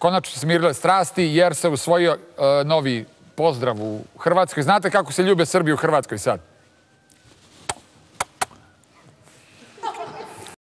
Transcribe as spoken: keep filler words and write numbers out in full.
konačno se smirile strasti jer se usvojio novi pozdrav u Hrvatskoj. Znate kako se ljube Srbi u Hrvatskoj sad?